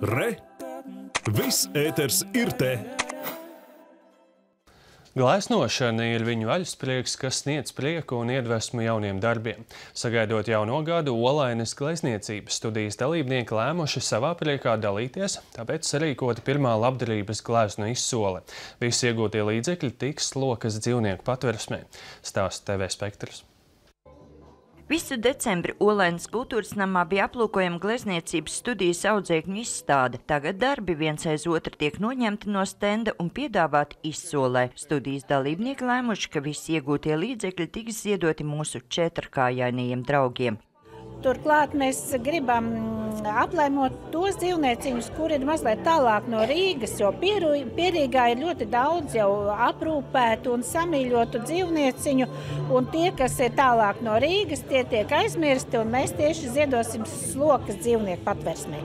Re! Viss ēters ir te! Gleznošana ir viņu vaļasprieks, kas sniedz prieku un iedvesmu jauniem darbiem. Sagaidot jauno gadu, Olainas glezniecības studijas dalībnieki lēmuši savā priekā dalīties, tāpēc sarīkota pirmā labdarības gleznu izsole. Visi iegūtie līdzekļi tiks Lokas dzīvnieku patversmē. Stāsta TV Spektrs. Visu decembri Olainas kultūras namā bija aplūkojama glezniecības studijas audzēkņu izstāde. Tagad darbi viens aiz otru tiek noņemti no stenda un piedāvāti izsolē. Studijas dalībnieki lēmuši, ka visi iegūtie līdzekļi tiks ziedoti mūsu četrkājainajiem draugiem. Turklāt mēs gribam aplēmot tos dzīvnieciņus, kuri ir mazliet tālāk no Rīgas, jo Pierīgā ir ļoti daudz jau aprūpētu un samīļotu dzīvnieciņu, un tie, kas ir tālāk no Rīgas, tie tiek aizmirsti, un mēs tieši ziedosim Lokas dzīvnieku patversmē.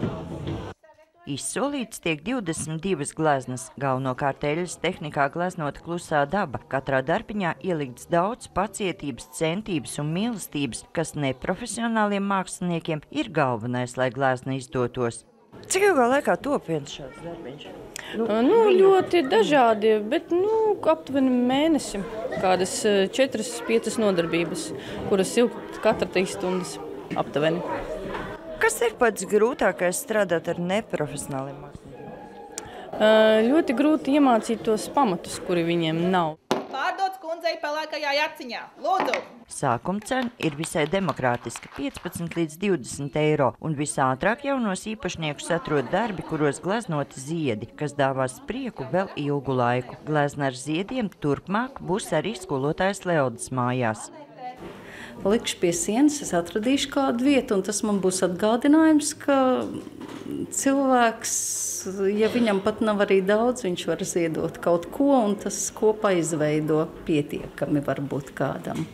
Izsolīts tiek 22 gleznas, galvenokārt eļļas tehnikā gleznota klusā daba. Katrā darbiņā ielikts daudz pacietības, centības un mīlestības, kas neprofesionāliem māksliniekiem ir galvenais, lai glezna izdotos. Cik ilgā laikā top viens šāds darbiņš? Ļoti dažādi, bet aptuveni mēnesi. Kādas 4-5 nodarbības, kuras ilgt katra 3 stundas aptuveni. Kas ir pats grūtākais strādāt ar neprofesionāliem māksliniekiem? Ļoti grūti iemācīt tos pamatus, kuri viņiem nav. Pārdots kundzei pelēkajā jaciņā. Lūdzu! Sākuma cena ir visai demokrātiska – 15 līdz 20 eiro, un visātrāk jaunos īpašniekus atrod darbi, kuros gleznoti ziedi, kas dāvās prieku vēl ilgu laiku. Glezna ar ziediem turpmāk būs arī skolotājs Leodas mājās. Likšu pie sienas, es atradīšu kādu vietu, un tas man būs atgādinājums, ka cilvēks, ja viņam pat nav arī daudz, viņš var ziedot kaut ko, un tas kopā izveido pietiekami varbūt kādam.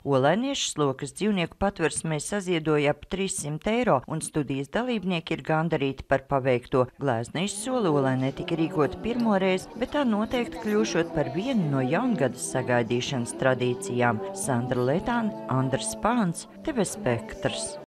Olainieši Lokas dzīvnieku patversmē saziedoja ap 300 eiro, un studijas dalībnieki ir gandarīti par paveikto. Glezna izsole Olainē tika rīkota pirmoreiz, bet tā noteikti kļūšot par vienu no jaungadas sagaidīšanas tradīcijām. Sandra Letāne, Andris Pāns, TV Spektrs.